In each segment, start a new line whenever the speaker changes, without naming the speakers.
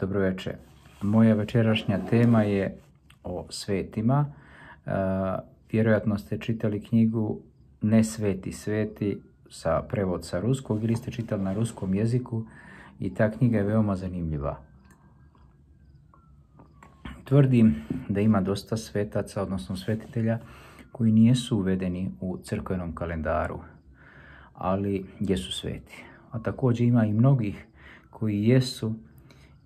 Dobro večer. Moja večerašnja tema je o svetima. Vjerojatno ste čitali knjigu Ne sveti sveti, prevod sa ruskog, ili ste čitali na ruskom jeziku i ta knjiga je veoma zanimljiva. Tvrdim da ima dosta svetaca, odnosno svetitelja, koji nisu uvedeni u crkvenom kalendaru, ali jesu sveti. A također ima i mnogih koji jesu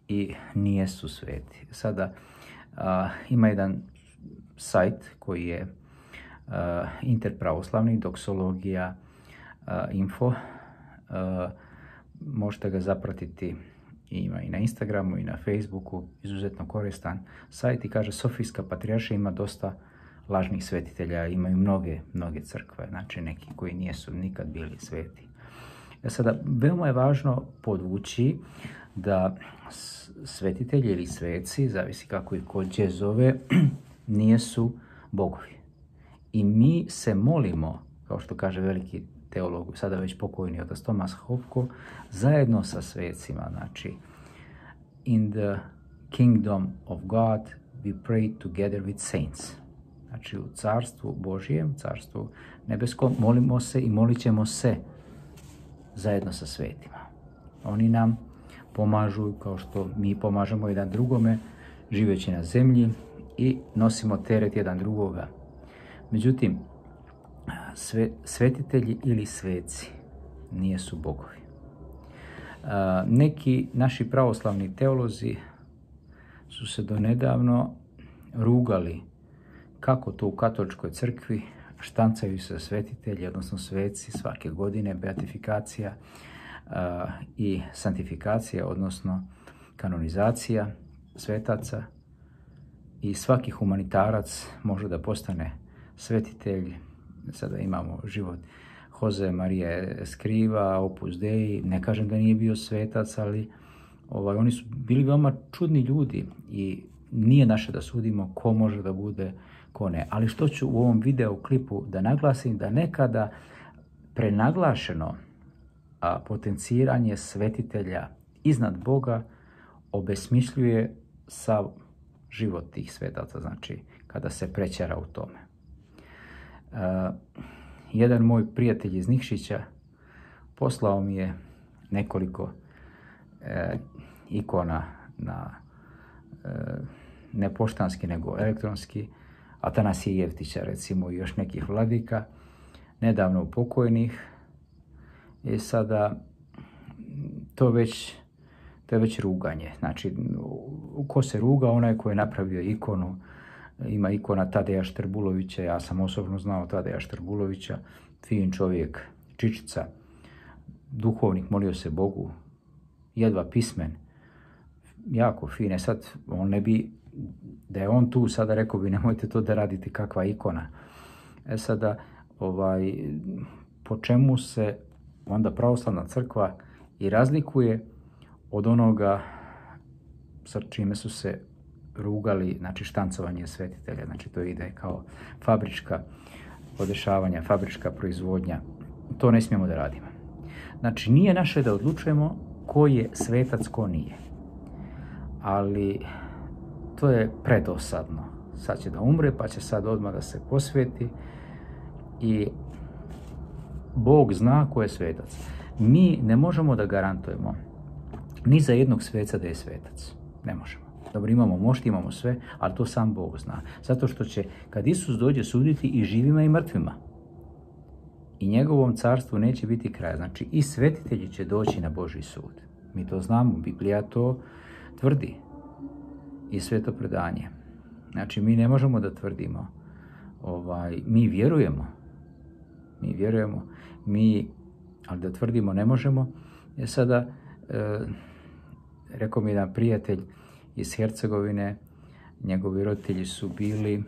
i nijesu sveti. Sada ima jedan sajt koji je interpravoslavni, doksologija info. Možete ga zapratiti, ima i na Instagramu i na Facebooku, izuzetno koristan sajt i kaže Sofijska patrijaršija ima dosta lažnih svetitelja, imaju mnoge crkve, znači neki koji nisu nikad bili sveti. Sada, veoma je važno podvući da svetitelji ili sveci, zavisi kako ih ko gdje zove, nisu bogovi. I mi se molimo, kao što kaže veliki teolog, sada već pokojni otac Tomas Hopko, zajedno sa svecima, znači in the kingdom of God we pray together with saints. Znači u carstvu Božijem, carstvu nebeskom, molimo se i molit ćemo se zajedno sa svetima. Oni nam pomažu kao što mi pomažemo jedan drugome, živeći na zemlji i nosimo teret jedan drugoga. Međutim, svetitelji ili sveci nisu bogovi. Neki naši pravoslavni teolozi su se donedavno rugali kako to u katoličkoj crkvi štancaju se svetitelji, odnosno sveci svake godine, beatifikacija i santifikacija, odnosno kanonizacija svetaca, i svaki humanitarac može da postane svetitelj. Sada imamo život Jose Maria Escriva, Opus Dei, ne kažem da nije bio svetac, ali oni su bili veoma čudni ljudi i nije naše da sudimo ko može da bude, ko ne. Ali što ću u ovom video klipu da naglasim, da nekada prenaglašeno potenciranje svetitelja iznad Boga obesmišljuje sav život tih svetaca, znači kada se prećara u tome. Jedan moj prijatelj iz Nikšića poslao mi je nekoliko ikona na ne poštanski nego elektronski, Atanasije Jevtića recimo i još nekih vladika, nedavno pokojnih. I sada to je već ruganje. Znači, ko se ruga, onaj ko je napravio ikonu. Ima ikona Tadeja Štrbulovića, ja sam osobno znao Tadeja Štrbulovića, fin čovjek, čičica, duhovnik, molio se Bogu, jedva pismen, jako fine. Sad, on ne bi, da je on tu, sada rekao bi nemojte to da radite, kakva ikona. Sada, po čemu se onda pravoslavna crkva i razlikuje od onoga sa čime su se rugali, znači štancovanje svetitelja, znači to ide kao fabrička podešavanja, fabrička proizvodnja. To ne smijemo da radimo. Znači nije naše da odlučujemo ko je svetac, ko nije. Ali to je predosadno. Sad će da umre, pa će sad odmah da se posveti i Bog zna ko je svetac. Mi ne možemo da garantujemo ni za jednog sveca da je svetac. Ne možemo. Dobro, imamo mošti, imamo sve, ali to sam Bog zna. Zato što će, kad Isus dođe, suditi i živima i mrtvima. I njegovom carstvu neće biti kraja. Znači, i svetitelji će doći na Božji sud. Mi to znamo, Biblija to tvrdi. I sveto predanje. Znači, mi ne možemo da tvrdimo. Mi vjerujemo. Ali da tvrdimo ne možemo. Sada, rekao mi jedan prijatelj iz Hercegovine, njegovi roditelji su bili,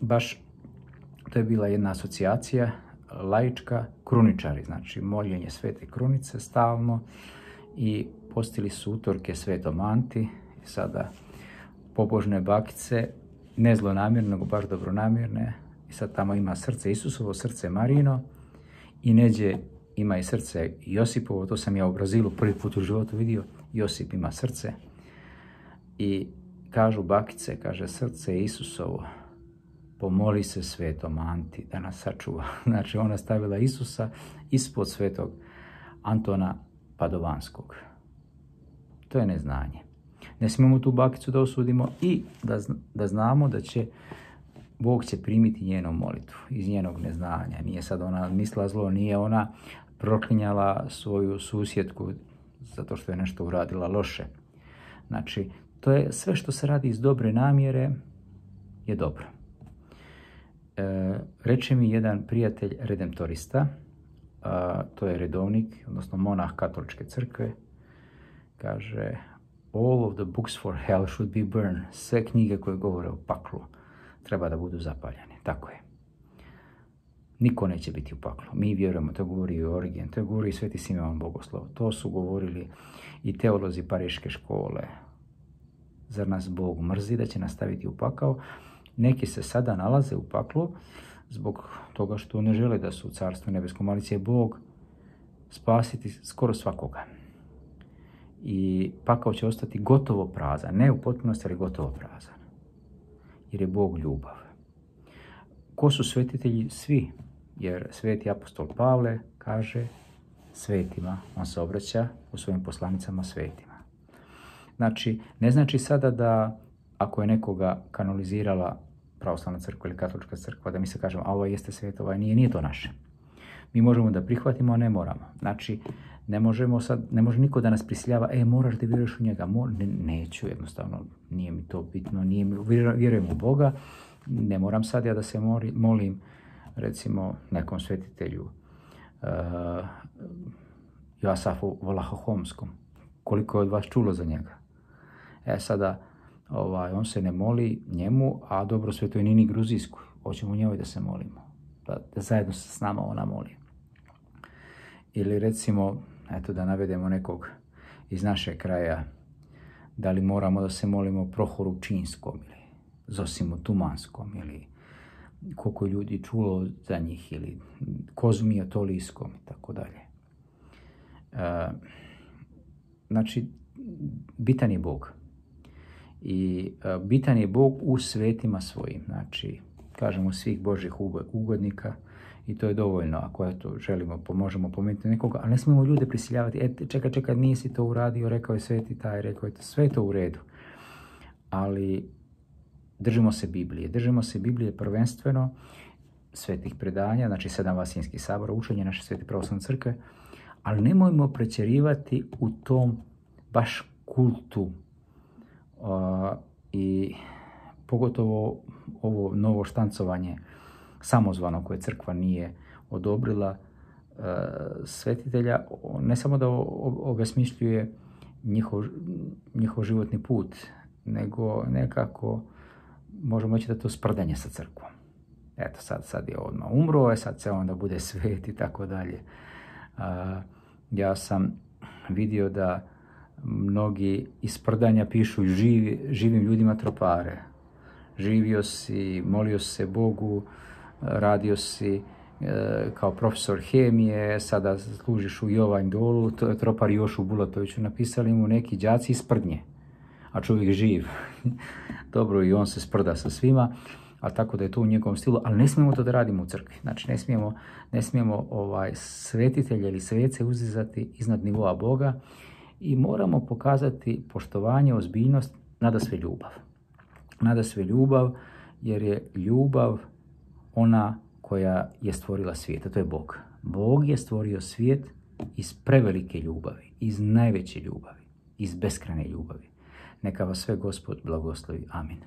baš, to je bila jedna asocijacija, laička, kruničari, znači moljenje svete krunice stalno, i postili su utorke svetom Anti, i sada pobožne bakice, ne zlonamjerne, nego baš dobronamjerne, i sad tamo ima srce Isusovo, srce Marijino, i neđe ima i srce Josipovo, to sam ja u Brazilu prvi put u životu vidio, Josip ima srce. I kažu bakice, kaže, srce Isusovo, pomoli se svetom Anti da nas sačuva. Znači, ona stavila Isusa ispod svetog Antona Padovanskog. To je neznanje. Ne smijemo tu bakicu da osudimo i da znamo da će Bog će primiti njenu molitvu iz njenog neznanja. Nije sad ona mislila zlo, nije ona proklinjala svoju susjedku zato što je nešto uradila loše. Znači, to je sve što se radi iz dobre namjere je dobro. Reče mi jedan prijatelj redemptorista, to je redovnik, odnosno monah katoličke crkve, kaže, all of the books for hell should be burned. Sve knjige koje govore o paklu treba da budu zapaljene. Tako je. Niko neće biti u paklu. Mi vjerujemo, to govori i Origen, to govori i Sveti Simeon Bogoslov. To su govorili i teolozi Pariške škole. Zar nas Bog mrzi da će nas staviti u pakao? Neki se sada nalaze u paklu zbog toga što ne žele da su u Carstvu nebeskom, ali će Bog spasiti skoro svakoga. I pakao će ostati gotovo prazan. Ne u potpunosti, ali gotovo prazan. Jer je Bog ljubav. Ko su svetitelji? Svi. Jer sveti apostol Pavle kaže svetima. On se obraća u svojim poslanicama svetima. Znači, ne znači sada da ako je nekoga kanonizirala pravoslavna crkva ili katolička crkva, da mi se kažemo, a ovo jeste svet, ovaj nije to naše. Mi možemo da prihvatimo, a ne moramo. Znači, ne može niko da nas prisiljava, moraš da vjeruješ u njega. Neću, jednostavno, nije mi to bitno, vjerujem u Boga, ne moram sad ja da se molim, recimo, nekom svetitelju, Joasafu Vlahohomskom. Koliko je od vas čulo za njega? Sada, on se ne moli njemu, a dobro svetoj Nini Gruzijskoj. Hoćemo njoj da se molimo, da zajedno s nama ona moli. Ili recimo, eto da navedemo nekog iz našeg kraja, da li moramo da se molimo Prohoru Činskom ili Zosimu Tumanskom ili koliko ljudi čulo za njih ili Kozmi Otolijskom i tako dalje. Znači, bitan je Bog. I bitan je Bog u svetima svojim, znači, kažemo svih Božjih ugodnika i to je dovoljno ako eto želimo, možemo pomenuti nekoga, ali ne smijemo ljude prisiljavati, čekaj, nisi to uradio, rekao je sveti taj, rekao je to, sve je to u redu. Ali držimo se Biblije prvenstveno, svetih predanja, znači 7 vasinskih sabora, učenje naše svete pravoslavne crkve, ali nemojmo pretjerivati u tom baš kultu i pogotovo ovo novo štancovanje samozvano koje crkva nije odobrila svetitelja, ne samo da obesmišljuje njihov životni put, nego nekako možemo reći da to sprdanje sa crkvom. Eto, sad je odmah umro, sad se onda bude svet i tako dalje. Ja sam vidio da mnogi iz sprdanja pišu živim ljudima tropare. Živio si, molio se Bogu, radio si kao profesor hemije, sada služiš u Jovanj Dolu, to je tropar Jošu Bulatoviću, napisali mu neki đaci iz sprdnje, a čovjek živ. Dobro, i on se sprda sa svima, a tako da je to u njegovom stilu, ali ne smijemo to da radimo u crkvi. Znači, ne smijemo svetitelje ili svece uzizati iznad nivoa Boga i moramo pokazati poštovanje, ozbiljnost, nadasve ljubav. Nadasve ljubav, jer je ljubav ona koja je stvorila svijet, a to je Bog. Bog je stvorio svijet iz prevelike ljubavi, iz najveće ljubavi, iz beskrajne ljubavi. Neka vas sve Gospod blagoslovi. Amin.